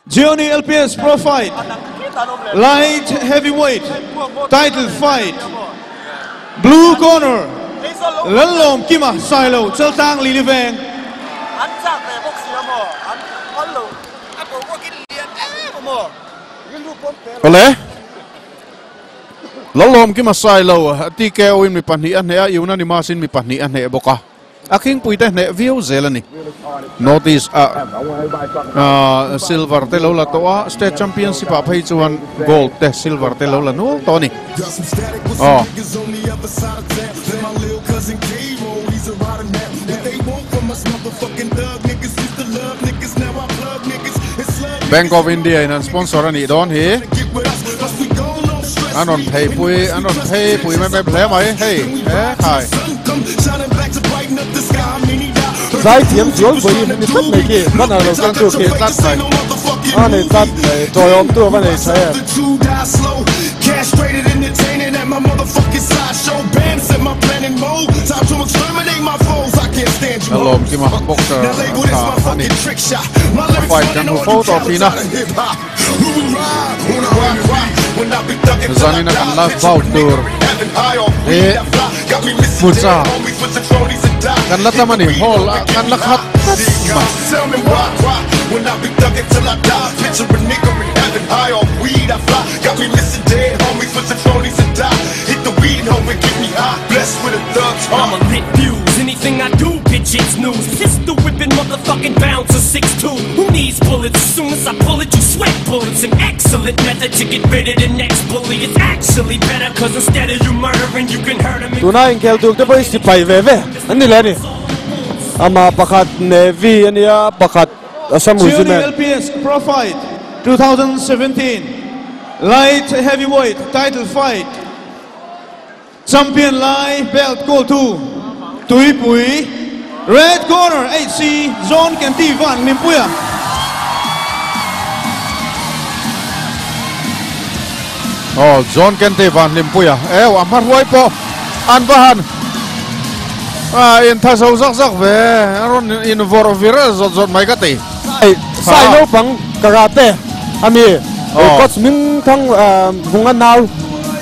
Gionee LPS Pro Fight Light Heavyweight Title Fight Blue Corner Lallawmkima Sailo Chaltlang Lili Veng. Awle Lallawmkima Sailo TKO in mi pahnih a hneh a unanimous in mi pahnih a hneh bawk a. A khingpui te hneh viau zel a ni. North East ah silver te lo la tawh a, state championship ah phei chuan gold te silver te lo la nual tawh a ni. Aw. Bank of India in an sponsor a nih dawn hi. An rawn phei pui an rawn phei pui mep mep hle mai hei he khai. Zai thiam zual vawi in ni tlat mai khi banner lo keng tu khi tlat mai. A nei tlat mai tawi awm tu a va nei tha em. Lawmkima boxer tha a ni. A fight kan hmu fo tawh thin a. Zanina kan last bout tur hi hmucha kan la tam a ni hall ah kan la khat tlat mai. Tuna inkhel tur te pawh hi sipai ve ve an ni leh a ni. Amah pakhat Navy a nia, pakhat Assam Regiment. LPS Pro Fight 2017 Light Heavyweight Title Fight Champion lai belt kawltu Tuipui Red Corner HC John Kenty Van Hlimpuia. Aw John Kenty Van Hlimpuia eu a hma hruai pawh an va han a in tha zo zak zak ve a rawn in vawrh vir zawt zawt mai ka ti. Sai sai naupang karate ami coach Ming Thang Vunga nau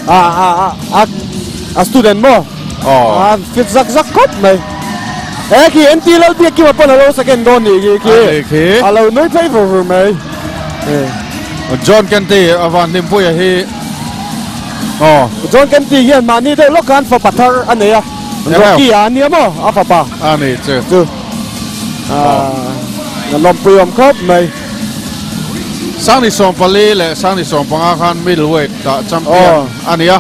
a a a a student maw a fit zak zak khawp mai. He khi NT Lalbiakkima pawn a lo second dawn nih khi khi a lo nui phei vur vur mai. John Kenty a van hlimpuia hi aw. John Kenty hian mahni deuh lawk khan fapa thar a nei a. Rocky a nia maw a fapa. A ni chu. Chu. A lawmpui awm khawp mai. Sangni 14 leh Sangni 15 khan middleweight ah champion a ni a.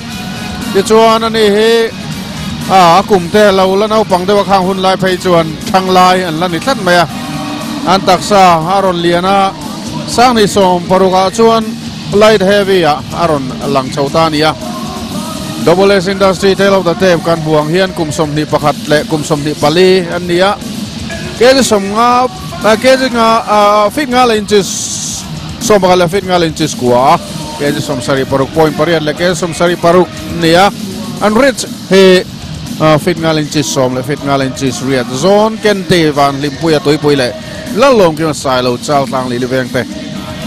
Tichuan ani hi a kum te lo la naupang deuh a khang hun lai phei chuan thlang lai an la ni tlat mai a. An taksa a rawn lian a, Sangni 16 ah chuan light heavy ah a rawn lang chho ta a ni a. Double S Industry Tale of the Tape kan hmu ang hian kum 21 leh kum 24 an ni a. Kg 50 kg nga feet nga leh inches 11 leh feet nga leh inches kua a, kg 76.8 leh kg 76 an ni a. An reach hi feet nga leh inches 10 leh feet nga leh inches riat zawn Kente Van Hlimpuia Tuipui leh Lallawmkima Sailo Chaltlang Lili Veng te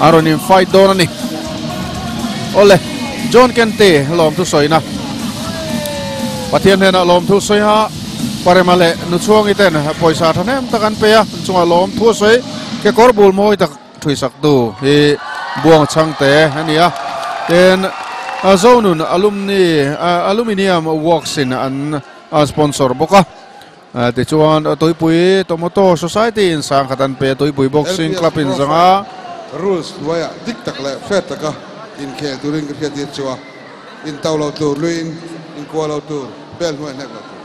an rawn in fight dawn a ni. Awle John Kente lawmthu sawina Pathian hnenah lawmthu sawi a Parema leh Nuchhuangi ten pawisa thahnem tak an pe a, an chungah lawmthu a sawi kekawr bul mawi tak thuisak tu hi Buang Chhangte a ni a. Tin Zonun Alumni Aluminium Works in an sponsor bawk a. Tichuan Tuipui Tomato Society in sangkhat an pe a, Tuipui Boxing Club in zanga. Rules hnuaiah dik tak leh fair taka inkhel turin ka hriat tir chu a, intau lo tur luiin inkuah lo tur, bel hnuai hnek lo tur.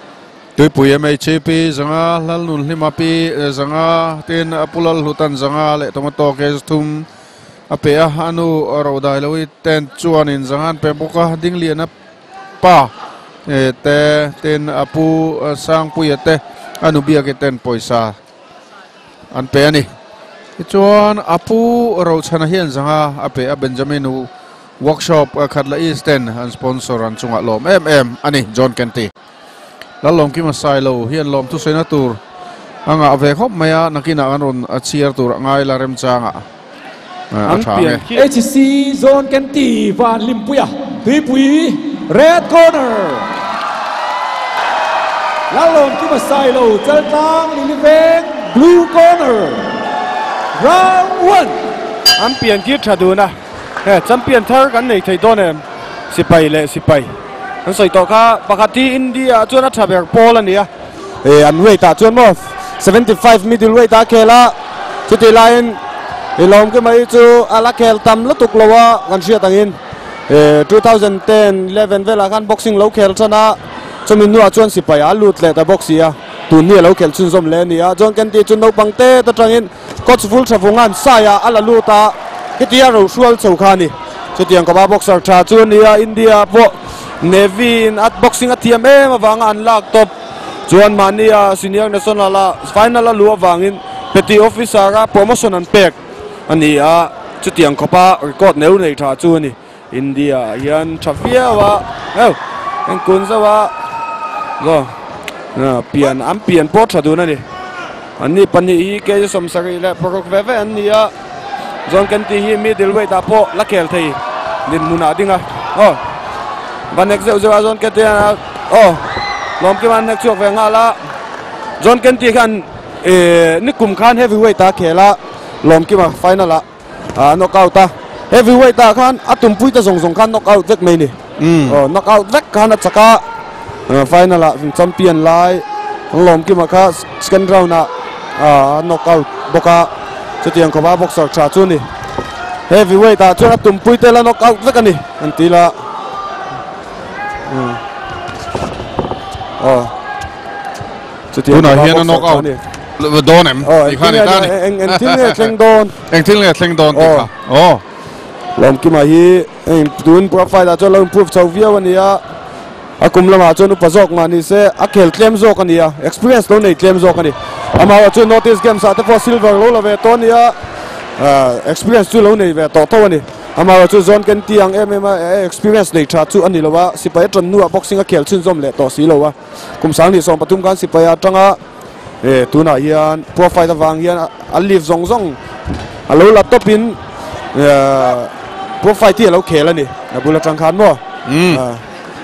Tuipui MHP zanga Hlalnun Hlima Pi zanga tin Pu Lalhlutan zanga leh Tomato kg thum a pe a, a nu Rodai Lohi ten chuanin zanga an pe bawk a, Dingliana Pa te tin a pu Sangpuia te a nu biak i ten pawisa an pe a ni. Tichuan a pu Rochhana hian zanga a pe a Benjamin Workshop Khatla East ten an sponsor an chungah lawm em em a ni John Kenty. Lallawmkima Sailo hian lawm thusaina tur a ngah ve khawp mai a, nakinah kan rawn chhiar tur a ngai la remchangah. An pian khi. HC Zone Kenty Van Limpuia Tuipui Red Corner Lalawm Kima Sailo Chaltlang Liliveng Blue Corner Round 1 An pian khi tha dun a he champion thar kan nei thei dawn em sipai leh sipai an sawi tawh kha pakhat hi India ah chuan a tha ber pawl a ni a e an weight ah chuan maw 75 middle weight ah a khel a chutih laiin i lawm ke mai chu a la khel tam lutuk lo a kan hriat angin e 2010 11 velah khan boxing lo khel tan a chumi hnuah chuan sipai a lut leh ta bawk si a tun hi a lo khel chhunzawm leh a ni a chuan kan tih chu naupang te atangin coach vul tha vungan sai ah a la lut a hetia rohrual chho kha a ni chutiang kawpa boxer tha chu a ni a India pawh Navy in a boxing a thiam em avanga an lak tawp chuan mahni a senior national a final a luh avangin petty officer a promotion an pek a ni a chutiang khawpa record neu nei tha chu a ni India ah hian tha viau a heu eng kun zauh a aw pian an pian pawh tha dun a ni anni pahnih hi kg 76 ve ve an ni a. John Kenty hi middle weight ah pawh la khel thei dinhmun ah a ding a aw va nek zeuh zeuh a John Kenty hian aw Lawmkima an nek chhuak ve nghal a John Kenty khan ihh nikum khan heavy weight ah a khel a Lawmkima final ah a knock out a heavy weight ah khan a tumpui te zawng zawng khan knock out vek mai a ni aw knock out vek khan a chak a final ah champion lai Lawmkima kha second round ah a knock out bawk a. Chutiang khawpa boxer tha chu a ni. Heavy weight ah chuan a tumpui te la knock out vek a ni an ti la. Aw. Chutiang Tunah hian a knock out dawn em? Aw, engtin nge eng eng thil nge thleng dawn? Eng thil nge thleng dawn tih kha. Aw. Lawmkima hi heng tun profile ah chuan lo improve chho viau a ni a. A kum lamah chuan upa zawk mah ni se a khel tlem zawk a ni a, experience lo nei tlem zawk a ni. Amaherawh chu North East Games ah te pawh silver lo la ve tawh a ni a, experience chu lo nei ve tawh tho a ni. Amaherawh chu John Kenty ang em em a experience nei tha chu a ni lo a, sipai a tan hnuah boxing a khel chhunzawm leh tawh si lo a. Kum 2013 khan sipai a tanga tunah hian pro fight avang hian a leave zawng zawng a lo la tawpin pro fight hi a lo khel a ni. A bul atang khan maw?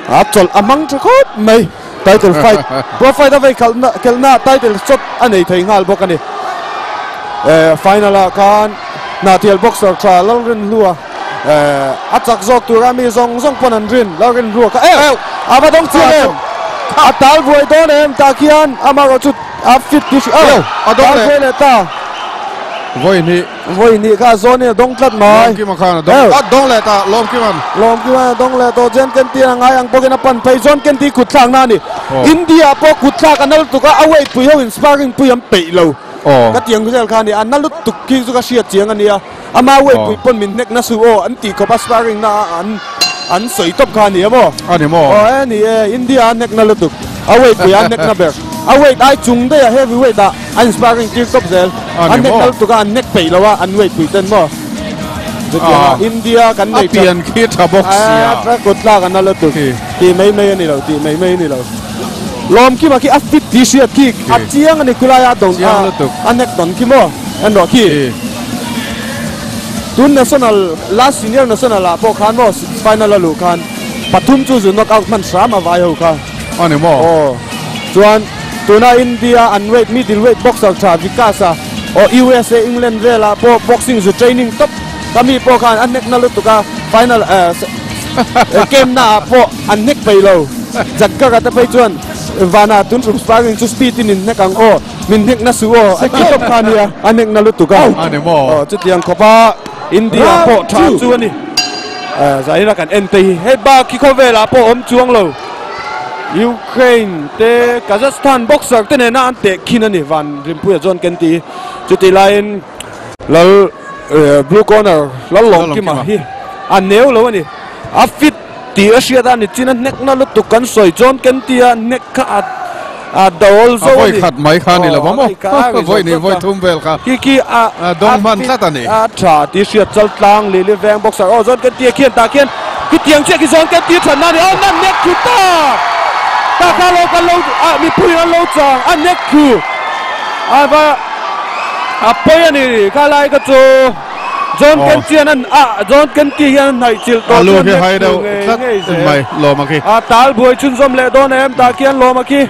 A chawlh a hmang tha khawp mai. Title fight pro fight a vei khalh na khelh na title shot a nei thei nghal bawk a ni. Eh final ah khan Hnahtial boxer tha Lalrinhlua eh a chak zawk tura mi zawng zawng pawn an rin Lalrinhlua kha eh a va dawng chiang em a tal buai dawn em tah khian amaherawh chu a fit tih hri a tal buai leh ta. Vawi hnih. Vawi hnih kha a zawn in a dawng tlat mai. Lawmkima khan a dawng. A dawng leh ta Lawmkima'n. Lawmkima'n a dawng leh tawh. John Kenty a ngai ang bawkin a pan phei. John Kenty kut thlakna a ni. India pawh kut thlak a na lutuk a, a weight pui ho in sparring pui an peih lo. Ka ti ang zel kha a ni. A na lutuk khi chu ka hriat chiang a nia. Ama weight pui pawn min hnek na suh aw an tih khawp a sparring na a an an sawi tawp kha a ni a maw? A ni maw? Aw e ni e, India a hnek na lutuk. A weight pui a hnek na ber. A weight ai chung daih a heavy weight ah an sparring tir tawp zel. A ni maw? An hnek na lutuk a an hnek peih lo a an weight pui ten maw? Chutiang a India kan nei A pian khi tha bawk sia. A kut tlak a na lutuk. Tih mai mai a ni lo, tih mai mai a ni lo. Lawmkima khi a fit tih hriat khi a chiang a ni khulai a dawn Chiang lutuk. a hnek dawn khi maw? En rawh khi. Tun national last senior national ah pawh khan maw final a luh khan pathum chu zu knock out hman hram a vai ho kha. A ni maw? Aw. Chuan tuna India an weight middle weight boxer tha Vikas a aw USA England velah pawh boxing zu training tawp ka mi pawh khan a hnek na lutuk a final game na ah pawh an hnek peih lo. Jaggar a te phei chuan vanah tun tum sparring chu speed in in hnek ang aw. Min hnek na suh aw, a ti tawp kha nia, a hnek na lutuk a. A ni maw? Aw, chutiang khawpa India pawh tha chu a ni. Zahira kan en te hi hei bak hi khawvelah pawh awm chuang lo. Ukraine te Kazakhstan boxer te nena an teh khin a ni Van Rinpuia chuan ken ti. Chutih laiin Lal blue corner Lallawmkima hi a neu lo a ni. A fit Tih a hriat a ni chin a hnekna lutuk kan sawi chuan ken tia hnek kha a a dawl zo a ni. A vawi khat mai kha a ni lo va maw? Vawi hnih vawi thum vel kha Khi khi a a dawng hman tlat a ni. A tha tih hriat chal tlang Lily veng boxer aw zawn ken tia khian tah khian khitiang chiah khi zawn ken tia thatna a ni aw nan nek thu ta ta kha lo kan lo a mipui an lo chang a nek thu a va a pawi a ni kha lai kha chu. John Kenty an a John Kenty hian an hnaih chilh tawh chuan nek thlu ngei ngei zel. A tal buai chhunzawm leh dawn em tah khian Lawma khi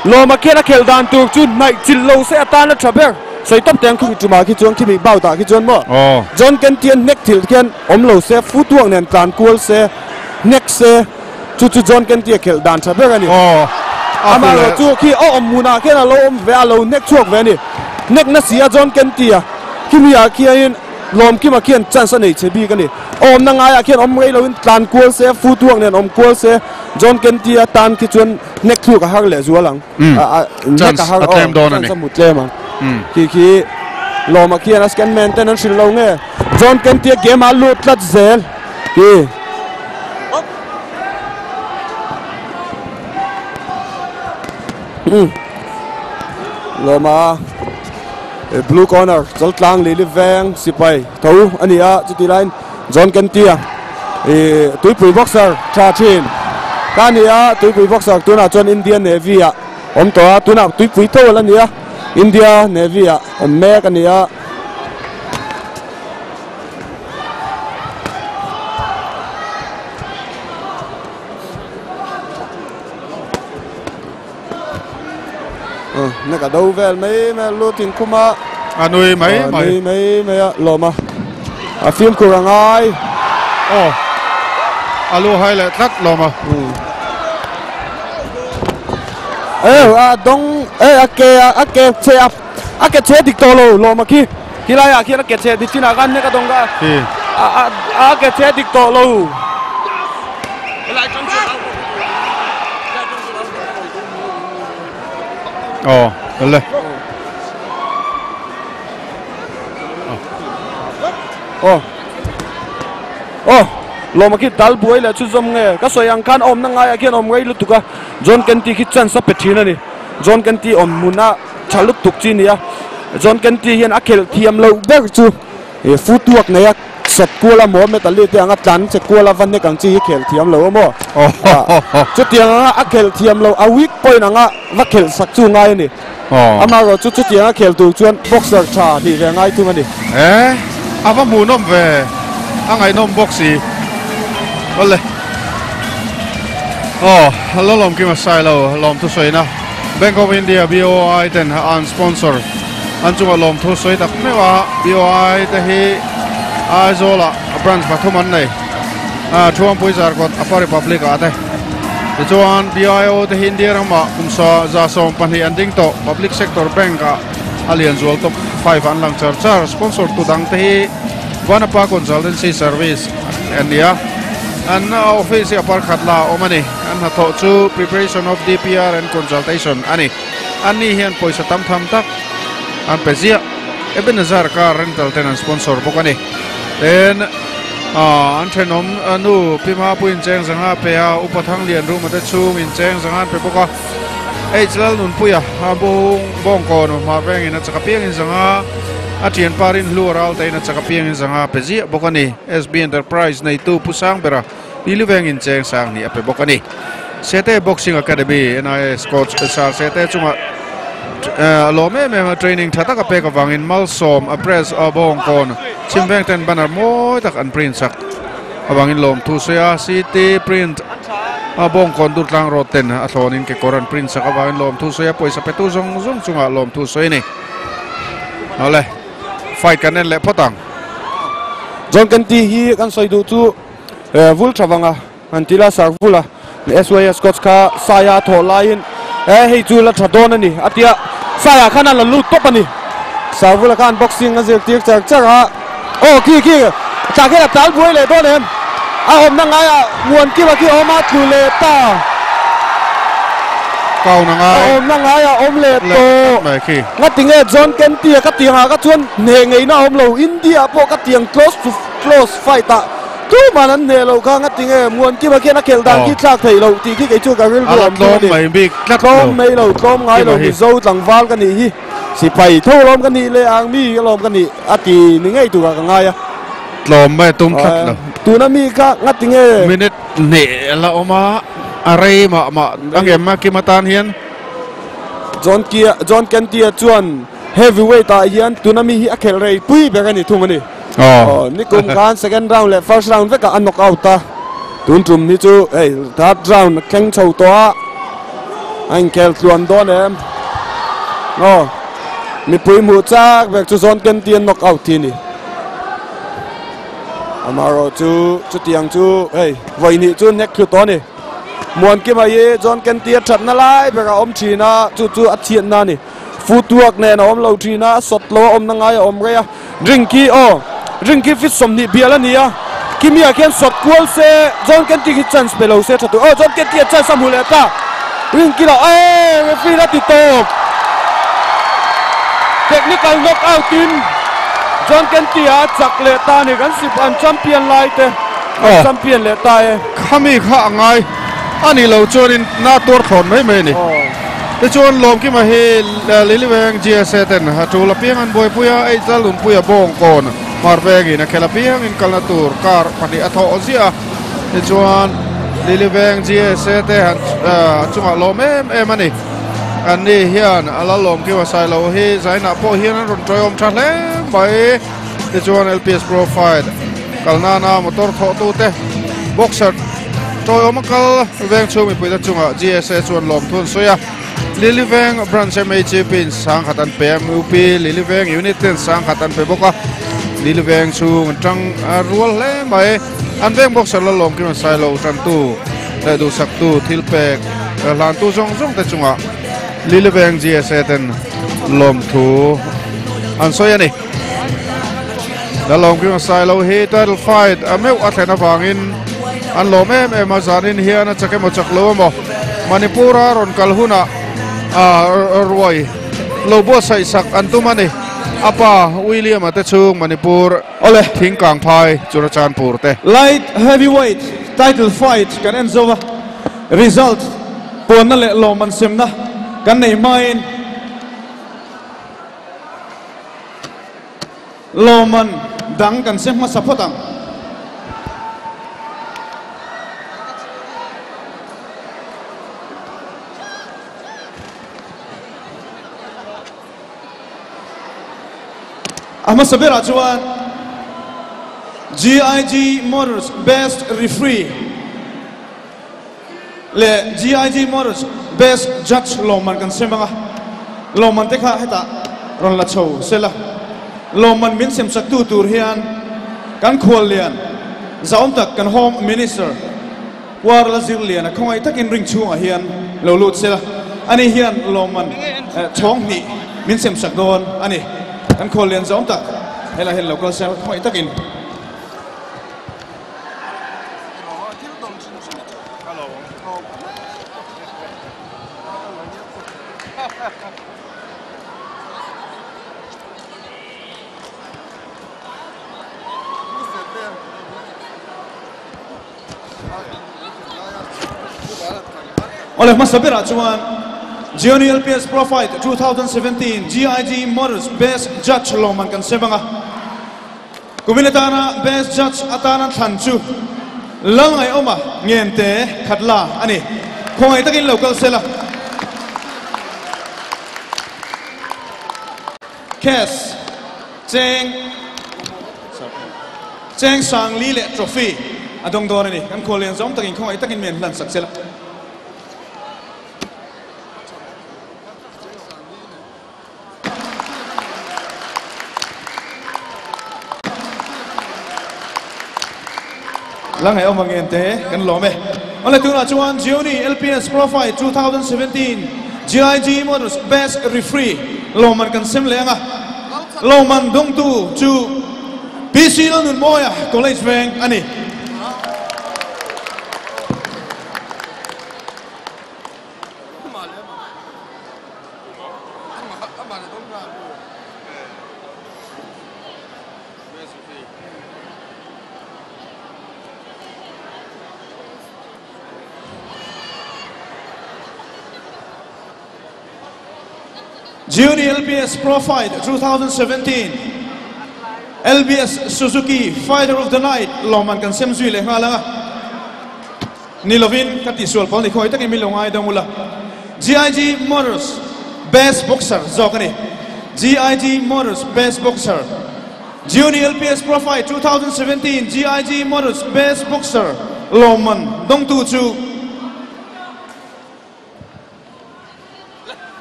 Lawma khian a khelh dan tur chu hnaih chilh lo se atan a tha ber. Sawi tawp teh ang khumi tumah khi chuan khimi bout ah khi chuan maw John Kenty an hnek thilh khian awm lo se footwork nen tlan kual se hnek se Chu chu John Kenty-a khelh dan tha ber a ni. Amaherawh chu khi a awm hmunah khian a lo awm ve a, a lo hnek chhuak ve a ni. Hnek na si a John Kenty-a khimi-ah khianin Lawmkima khian chance a nei che bik a ni. A awmna ngaiah khian awm rei loin tlan kual se, footwork nen awm kual se, John Kenty-a tan khi chuan hnek thluk a har leh zual ang. Hnek a har aw, chance a hmu tlem ang. Khi khi Lawma khian a scan man ten an hrilh lo nge John Kenty-a game-ah a lut tlat zel. Khi. Lawma blue corner chaltlang lili veng sipai tho a ni a chuti laiin John Kentia ih tuipui boxer tha thin ta a ni a tuipui boxer tunah chuan India Navy ah awm tawh a tunah tuipui tho a la ni a India Navy ah awm mek a ni a. Na ka do vel mai mai lu tin khuma a nui mai mai nui mai mai a lawm a a fimkhur a ngai aw a lu hai leh tlat lawm a e a dawng e a ke a ke che a a ke che dik tawh lo lawm a khi Khilai ah khian a ke cheh dik chinah khan nek a dawng ka a ke cheh dik tawh lo. Aw le. Aw. Aw lawma khi dal buai leh chu zawm nge ka sawi ang khan awmna ngaiah khian awm rei lutuk a John Kenty khi chance a pe thin a ni John Kenty awm hmuna Tha lutuk chi nia. John Kenty hian a khelh thiam loh ber chu footwork nei a sawt kual a maw Metal te anga tlan che kual a va nek ang chi hi khel thiam lo a maw. Chutiang anga a khelh thiam loh a weak point anga va khelh sak chu ngai a ni. Amaherawh chu chutiang a khel tur chuan boxer tha nih ve ngai thung a ni. E a va hmuhnawm ve a ngaihnawm bawk si. Awle. Aw Lalawmkima Sailo lawmthusawina. Bank of India, BOI, ten an sponsor an chunga lawmthu sawi tak meuh a, BOI te hi Aizawlah branch pathum an nei a, Thuampui Zarkawt Upper Republic ah te. Tichuan BIO te hi India ramah kum 120 an ding tawh, Public Sector Bank ah a lian zual top 5 an lang char char. Sponsor tu dang te hi Vanapa Consultancy Service an ni a, an office hi a parkhat la a awm a ni. An hnathawh chu Preparation of DPR and Consultation a ni. Anni hian pawisa tam tham tak an pe ziah. Ebenezer car rental ten an sponsor bawk a ni. Tin, an thenawm nu Pi Mapui incheng zanga pe a, Upa Thanglian Ruma te chhung incheng zanga an pe bawk a. H Lalnunpuia bung bawngkawn hmar vengin a chak apiangin zanga a thianpa Rinhlu a ral tein a chak apiangin zanga pe ziah bawk a ni. SB Enterprise neitu Pu Sangbera Lili vengin cheng sang hnih a pe bawk a ni. Sete Boxing Academy NIS coach Sir Sete chungah a lawm em em a, training tha tak a pek avangin malsawm a press a bawngkawn chhim veng ten banner mawi tak an print sak avangin lawmthu sawi a, CT print a bawngkawn Durtlang road ten a thlawnin kekawr an print sak avangin lawmthu sawi a, pawisa petu zawng zawng chungah lawmthu sawi a ni. Awle, fight kan en leh phawt ang. John Kenty hi kan sawi duh chu. Vul tha vanga han ti la sar vul a SYS coach kha Saia thawh laiin e hei chu la tha dawn a ni a tia Saia khan a la lut tawp a ni sar vula khan boxing a zirtir char char a aw khi khi tah khian a tal buai leh dawn em a awmna ngaiah muan kima khi a awm a tlu leh ta Kauna ngai a awmna ngaiah awm leh tawh ngatinge John Kenty a ka tiangah kha chuan hneh ngeihna a awm lo India pawh ka tiang close to Close fight ah tuman an hneh loh kha ngati nge Muankima khian a khelh dan khi thlak theih loh tih khi kei chu ka rilru awm thung a ni. Tlawm mai lo, tlawm ngai lo Mizo tlangval ka nih hi sipai tho alawm ka nih leh ang mi alawm ka nih a ti ni ngei turah ka ngai a. Tlawm mai a tum tlat lo. Tuna mi kha ngati nge. Minute hnih la awm a, a rei mah mah a ngem a Kima tan hian. John Kia, John Kentia chuan heavyweight ah hian tuna mi hi a khelh rei pui ber a ni thung a ni. Aw nikum khan second round leh first round vekah a knock out a, tun tum hi chu hei third round a thleng chho tawh a, a inkhel tluan dawn em? Aw mipui hmuh chak vek chu zawn ken tih a knock out hi a ni. Amaherawh chu chutiang chu hei vawi hnih chu hnek thlu tawh a ni. Muankima hi John Kenty a thatna lai berah a awm thin a, chu chu a chhiatna a ni. Footwork nen a awm lo thin a, a sawt lo a awmna ngai a awm rei a. Ring khi aw, ring khi fit 20 bial a ni a, Kimia khian sawt kual se, John Kenty khi chance pe lo se tha tur. Aw John Kenty a chance a hmu leh ta, ring khi lah ee referee la ti tawp. Technical knock out in John Kenty a chak leh ta a ni, kan sip an champion lai te an champion leh ta e. Khami kha a ngai a nih loh chuanin na tuar thlawn mai mai a ni. Tichuan Lawmkima hi Liliweng GSA ten a tul apiang an buaipui a, ei tlal nunpuia Bawngkawn Hmarvengin a khel apiang in kalna tur kar pahnih a thawh ziah a. Tichuan Liliweng GSA te han chungah lawm em em a ni. An ni hian a la Lawmkima Sailo hi zainah pawh hian an rawn tawiawm tha hle mai. Tichuan LPS Profile kal nana motor thawhtute boxer tawiawm a kal veng chhung mipuite chungah GSA chuan lawmthu an sawi a. Lily Veng Branch MHP in sangkhat an pe a, MUP Lily Veng Unit ten sangkhat an pe bawk a. Lily Veng chhung an tang rual hle mai. An veng boxer la lawmkim an sai lo tantu leh duhsaktu thil pek hlantu zawng zawng te chungah Lily Veng GSA ten lawmthu an sawi a ni. Lalawmkima Sailo hi title fight a meuh a thlen avangin an lawm em em a, zanin hian a chak emaw chak lo emaw Manipur-a rawn kal hunah ruai lo buatsaih sak an tum a ni. A pa William-a te chhung Manipur thingkang phai Churachandpur te. Light Heavyweight title fight kan en zo a, result puanna leh lawmman semna kan nei hmain, Lawmman dang kan se hmasa phawt ang. A hmasa berah chuan GIG Motors Best Referee leh GIG Motors Best Judge lawmman kan sem ang a, lawmman te kha hetah rawn la chho se la, lawmman min sem sak tu tur hian kan khuallian zahawm tak kan Home Minister Kuarla Zirliana khawngaih takin ring chhungah hian lo lut se la, ani hian lawmman chhawng hnih min sem sak dawn a ni. Kan khuallian zahawm tak helaiah hian lo kal se la khawngaih takin. Awle hmasa berah chuan Gionee LPS Pro Fight 2017 GIG Motors Best Judge lawmman kan sem ang a. Kumin atana Best Judge atana thlan chu Lalngaihawma Ngente Khatla a ni. Khawngaih takin lo kal sela. Cash, Cheng, Cheng Sangli leh Trophy a dawng dawn a ni. Kan khuallian zawng takin khawngaih takin mi an hlan sak sela. La ngaihawm ang en te kan lawm e. Awle tunah chuan Gionee LPS Pro Fight 2017 GIG Motors Best Referee lawmman kan sem leh ang a. Lawmman dawngtu chu PC Lalnunmawia College Veng a ni. Junior LBS Pro Fight 2017 LBS Suzuki Fighter of the Night lawmman kan sem zui leh nghal ang a. Ni lovin ka tihsual pawl ni khawi takin min lo ngai dawng ula. GIG Motors Best Boxer zawk a ni. GIG Motors Best Boxer. Gionee LPS Pro Fight 2017 GIG Motors Best Boxer lawmman dawngtu chu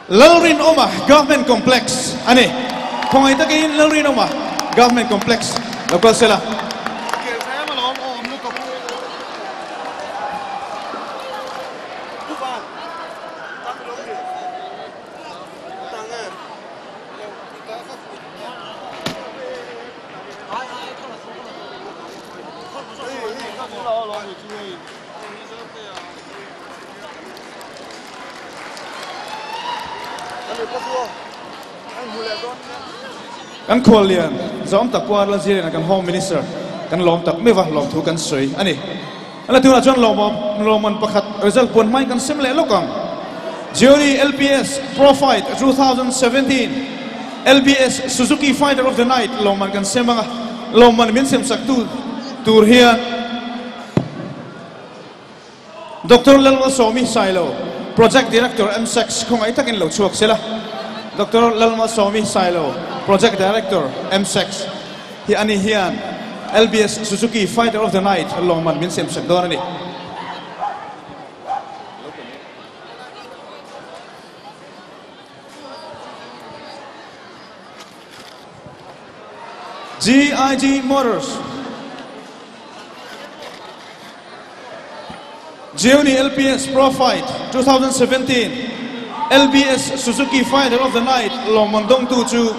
Lalrinawma Government Complex a ni. Khawngaih takin Lalrinawma Government Complex lo kal sela. Kan khuallian zawm tak Puar Lalziriana kan Home Minister kan lawm tak meuh a, lawmthu kan sawi a ni. A la tunah chuan lawmman pakhat result puan hmain kan sem leh lawk ang. Gionee LPS Pro Fight 2017 LBS Suzuki Fighter of the Night lawmman kan sem ang a, lawmman min semsak tu tur hian Doctor Lalmalsawmi Sailo, Project Director MSEX khawngaih takin lo chhuak sela. Doctor Lalmalsawmi Sailo, Project Director MSEX hi ani hian LBS Suzuki Fighter of the Night lawmman min semsak dawn a ni. GIG Motors Gionee LPS Pro Fight 2017 LBS Suzuki Fighter of the Night lawmman dawngtu chu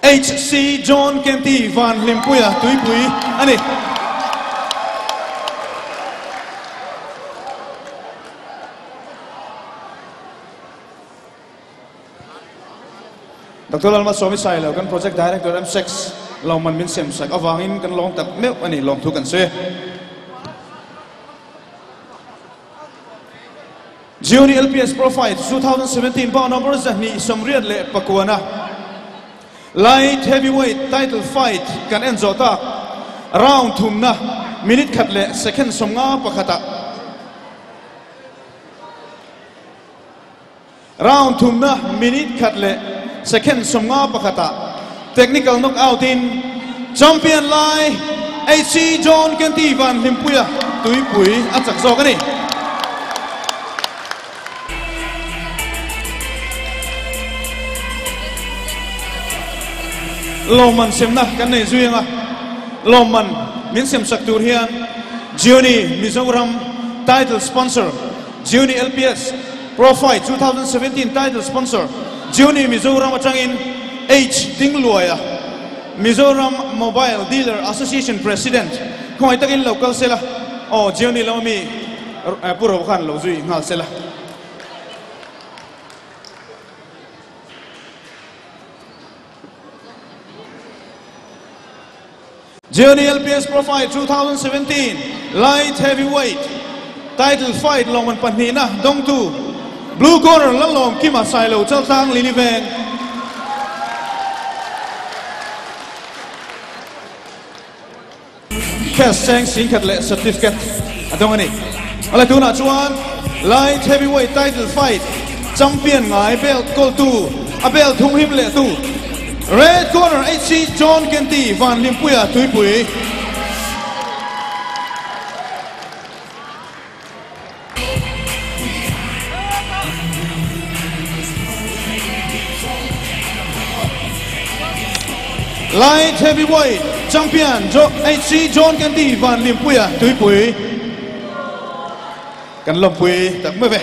HC John Kenty Van Hlimpuia Tuipui a ni. Doctor Lalmalsawmi Sailo kan Project Director M6 lawmman min siamsak avangin kan lawm tak meuh a ni lawmthu kan sawi. Gionee LPS Pro Fight 2017 bout number 229 na Light Heavyweight Title Fight kan en zawh tak round thumna minute khat leh second 51 ah Round thumna minute khat leh second 51 ah technical knockout in champion lai HC John Kenty Van Hlimpuia Tuipui a chak zawk a ni. Lawmman semna kan nei zui anga lawmman min semsak tur hian Gionee Mizoram title sponsor Gionee LPS Pro Fight 2017 title sponsor Gionee Mizoram atangin H Dingluaia Mizoram Mobile Dealer Association President khawngaih takin lo kal sela aw Gionee lama mi Pu Ro khan lo zui nghal sela. Gionee LPS Pro Fight 2017 Light Heavyweight Title Fight lawmman pahnihna dawngtu Blue Corner Lalawm Kima Sailo Chaltlang Lily Veng. Cash cheng singkhat leh certificate a dawng a ni. A la tunah chuan Light Heavyweight Title Fight Champion ngai belt kawltu a belt thum him leh tu Red Corner HC John Kenty Van Hlimpuia Tuipui. Light Heavyweight Champion HC John Kenty Van Hlimpuia Tuipui. Kan lawmpui tak mai ve.